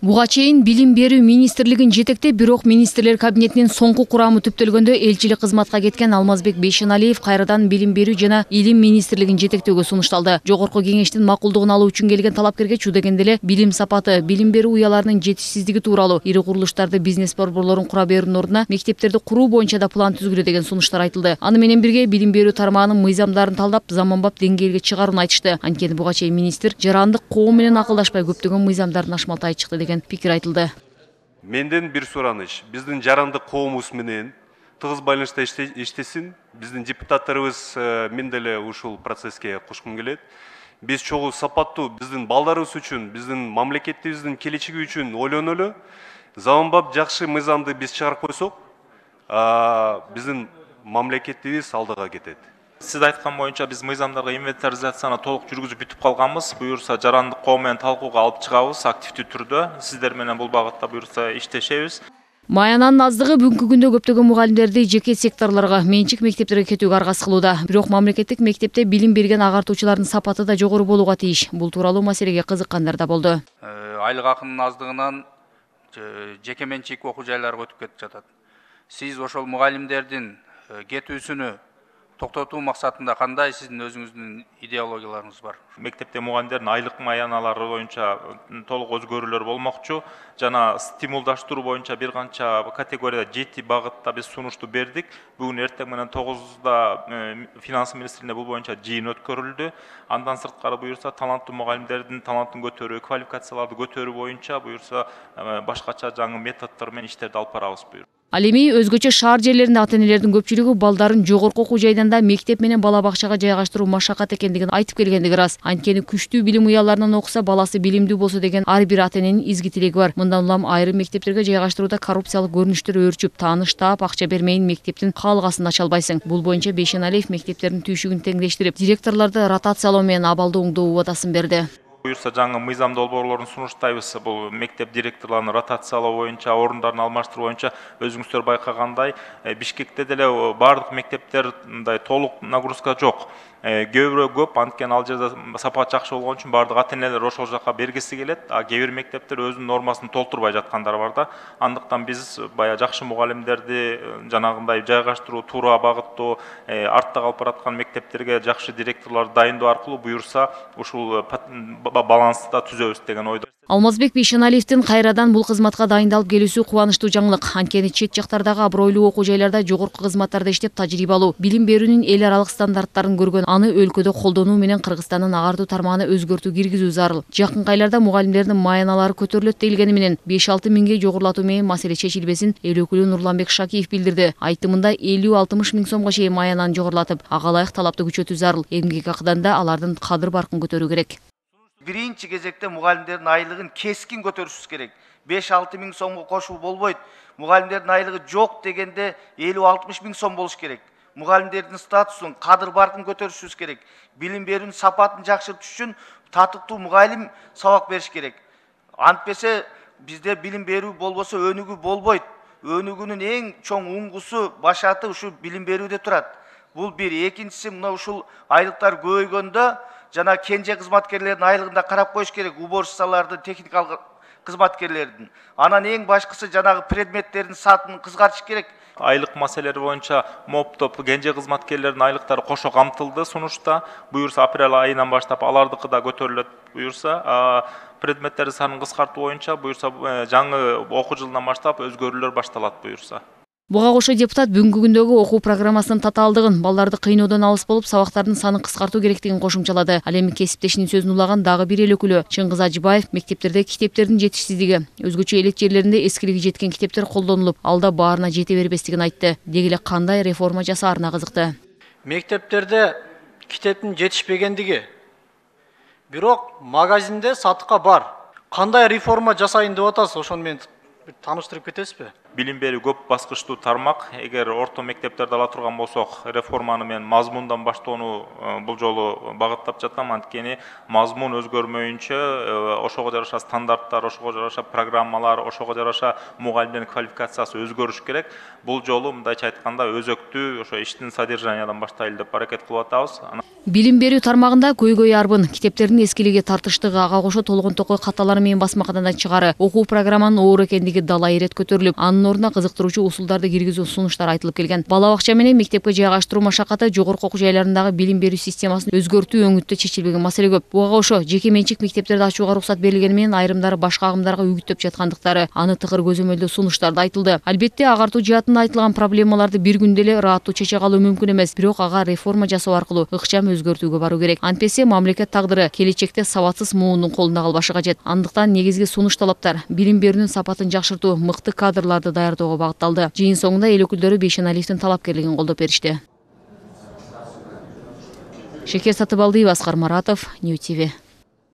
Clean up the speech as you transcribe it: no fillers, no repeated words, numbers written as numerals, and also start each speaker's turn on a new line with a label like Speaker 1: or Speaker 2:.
Speaker 1: Буга чейин билим берүү министрлигин жетектеп, бирок министрлер кабинетинин соңку курамы түптөлгөндө элчилик кызматка кеткен Алмазбек Бейшеналиев кайрадан билим берүү жана илим министрлигин жетектөөгө сунушталды. Жогорку кеңештин макулдугун алуу үчүн келген талапкерге чу дегенде эле билим сапаты, билим берүү уяларынын жетишсиздиги тууралуу, ири курулуштарды, бизнес борборлорун кура берүүнүн ордуна мектептерди куруу боюнча да план түзгүлө деген сунуштар айтылды. Аны менен бирге билим берүү тармагынын мыйзамдарын талдап, заманбап деңгээлге чыгарууну айтышты. Анткени буга чейин министр жарандык коом менен акылдашпай көптөгөн мыйзамдарын ашмалтай чыкты деген пикир айтылды.
Speaker 2: Менден бир сураныч, биздин жарандык коомубуз менен тыгыз байланышта иштесин. Биздин депутаттарыбыз мен деле ушул процесске кошкум келет. Биз чогуу сапаттуу биздин балдарыбыз үчүн, биздин мамлекетибиздин келечеги үчүн ойлонолу. Заманбап жакшы мыйзамды биз чыгарып койсок, биздин мамлекетибиз алдыга кетет.
Speaker 3: Сиз айткан боюнча биз мыйзамдарга инвентаризацияны толук жүргүзүп бүтүп калганбыз. Буюрса жарандык коом менен талкууга алып чыгабыз активдүү түрдө. Сиздер менен бул багытта буюрса иштешебиз.
Speaker 1: Маянанын аздыгы бүгүнкү күндө көптөгөн мугалимдерди жеке секторлорго, менчик мектептерге кетүүгө аргасыз кылууда. Бирок мамлекеттик мектепте билим берген агартуучулардын сапаты да жогору болууга тийиш. Бул тууралуу маселеге кызыккандар да болду.
Speaker 4: Айлык акынын аздыгынан жеке менчик окуу жайларга өтүп кетип жатат. Сиз ошол мугалимдердин кетүүсүнү токтотуу максатында кандай сиздин өзүңүздүн идеологияларыңыз бар?
Speaker 3: Мектепте мугалимдердин айлык маяналары боюнча толук өзгөрүүлөр болмокчу. Жана стимулдаштыруу боюнча бир канча категорияда 7 багытта биз сунушту бердик. Бүгүн эртең менен 9-да финанс министрлигинде бул боюнча жыйын өткөрүлдү. Андан сырткары буюрса таланттуу мугалимдердин талантын көтөрүү, квалификацияларды көтөрүү боюнча буюрса башкача жаңы методдор менен иштерди алып барабыз буюрса.
Speaker 1: Ал эми өзгөчө шаар жерлеринде ата-энелердин көпчүлүгү балдарын жогорку окуу жайдан да мектеп менен бала бакчага жайгаштыруу машакат экендигин айтып келгендиги рас. Анткени күчтүү билим уяларынан окуса, баласы билимдүү болсо деген ар бир ата-эненин изги тилеги бар. Мындан улам айрым мектептерге жайгаштырууда коррупциялык көрүнүштөр өөрчүп, тааныш таап, акча бермейин мектептин каалгасын ача албайсың. Бул боюнча Бейшеналиев мектептердин түйшүгүн теңдештирип, директорлорду ротациялоо менен абалды оңдоо убадасын берди.
Speaker 3: Буюрса жаңы мыйзам долбоорлорун сунуштайбыз. Бул мектеп директорлорун ротациялоо боюнча, орундарын алмаштыруу боюнча өзүңүздөр байкагандай Бишкекте деле бардык мектептер мындай толук нагрузка жок. Көбүрөөк көп, анткени ал жерде сапат жакшы болгон үчүн бардык ата-энелер ошол жака бергиси келет. Кээ бир мектептер өзүнүн нормасын толтурбай жаткандар бар да. Андыктан биз бая жакшы мугалимдерди жанагындай жайгаштыруу, туура багыттоо, артта калып бараткан мектептерге жакшы директорлорду дайындоо аркылуу буюрса ушул балансты да түзөбүз деген ойдо.
Speaker 1: Алмазбек Бейшеналиевдин кайрадан бул кызматка дайындалып келүүсү кубанычтуу жаңылык. Анткени чет жактардагы абройлуу окуу жайларда жогорку кызматтарда иштеп тажрыйба алуу, билим берүүнүн эл аралык стандарттарын көргөн, аны өлкөдө колдонуу менен Кыргызстандын агартуу тармагына өзгөртүү киргизүү зарыл. Жакынкы айларда мугалимдердин маяналары көтөрүлөт делгени менен 5-6 миңге жогорулатуу менен маселе чечилбесин эл өкүлү Нурланбек Шакиев билдирди. Айтымында 50-60 миң сомго чейин маянаны жогорулатып, ага ылайык талапты күчөтүү зарыл. Эмгек акыдан да алардын кадыр баркын көтөрүү керек.
Speaker 5: Биринчи кезекте мугалимдердин айлыгын кескин көтөрүшүбүз керек. 5-6 миң сомго кошуу болбойт. Мугалимдердин айлыгы жок дегенде 50-60 миң сом болуш керек. Мугалимдердин статусун, кадыр баркын көтөрүшүбүз керек. Билим берүүнүн сапатын жакшыртыш үчүн татыктуу мугалим сабак бериш керек. Антпесе бизде билим берүү болбосо өнүгүү болбойт. Өнүгүүнүн эң чоң уңгусу, башаты ушу билим берүүдө турат. Бул бир. Экинчиси, мына ушул айлыктар көбөйгөндө жана кенже кызматкерлердин айлыгында карап коюш керек, уборщицаларды, техникалык кызматкерлердин. Анан эң башкысы жанагы предметтердин сатын кыскартыш керек.
Speaker 3: Айлык маселелери боюнча МОП-топ кенже кызматкерлердин айлыктары кошо камтылды сунушта. Буюрса апрель айынан баштап алардыкы да көтөрүлөт. Буюрса предметтердин санын кыскартуу боюнча буюрса жаңы окуу жылынан баштап өзгөрүүлөр башталат буюрса.
Speaker 1: Буга кошо депутат бүгүнкү күндөгү окуу программасынын татаалдыгын, балдарды кыйноодон алыс болуп, сабактардын санын кыскартуу керектигин кошумчалады. Ал эми кесиптешинин сөзүн улаган дагы бир эл өкүлү Чыңгыз Ажыбаев мектептерде китептердин жетишсиздиги, өзгөчө элет жерлеринде эскилиги жеткен китептер колдонулуп, алда баарына жете бербестигин айтты. Деги эле кандай реформа жасаарына кызыкты.
Speaker 6: Мектептерде китептин жетишпегендиги, бирок магазинде сатыкка бар. Кандай реформа жасайын деп атасыз, ошону менен тааныштырып кетесизби?
Speaker 3: билим берүү көп баскычтуу тармак. Эгер орто мектептерди ала турган болсок, реформаны мен мазмундан баштоону бул жолу багыттап жатам. Анткени мазмун өзгөрмөйүнчө ошого жараша стандарттар, ошого жараша программалар, ошого жараша мугалимдердин квалификациясы өзгөрүш керек. Бул жолу мындайча айтканда өзөктүү ошо иштин содержаниядан баштайлы деп аракет кылып атабыз.
Speaker 1: Билим берүү тармагында көйгөй арбын, китептердин эскилиги, тартыштыгы, ага кошо толгонтокой каталары менен басмаканадан чыгары, окуу программанын оор экендиги дала ирет көтөрүлүп, анын ордуна кызыктыруучу усулдарды киргизүү сунуштар айтылып келген. Бала бакча менен мектепке жайгаштыруу машакаты, жогорку окуу жайларындагы билим берүү системасын өзгөртүү өңүттө чечилбеген маселе көп. Буга кошо жеке менчик мектептерди ачууга уруксат берилгени менен айрымдары башка агымдарга үгүттөп жаткандыктары, аны тыгыр көзөмөлдөө сунуштарда айтылды. Албетте, агартуу жаатында айтылган проблемаларды бир күндө эле ыраттуу чече калуу мүмкүн эмес, бирок ага реформа жасоо аркылуу ыкчам өзгөртүүгө баруу керек. Антпесе мамлекет тагдыры келечекте сабатсыз муундун колунда калбашы кажет. Андыктан негизги сунуш талаптар билим берүүнүн сапатын жакшыртуу, мыкты кадрларды даярдоого багытталды. Жыйын соңунда эл өкүлдөрү Бейшеналиевдин талапкерлигин колдоп беришти. Шекер Сатыбалдиева, Аскар Маратов, Нью ТВ.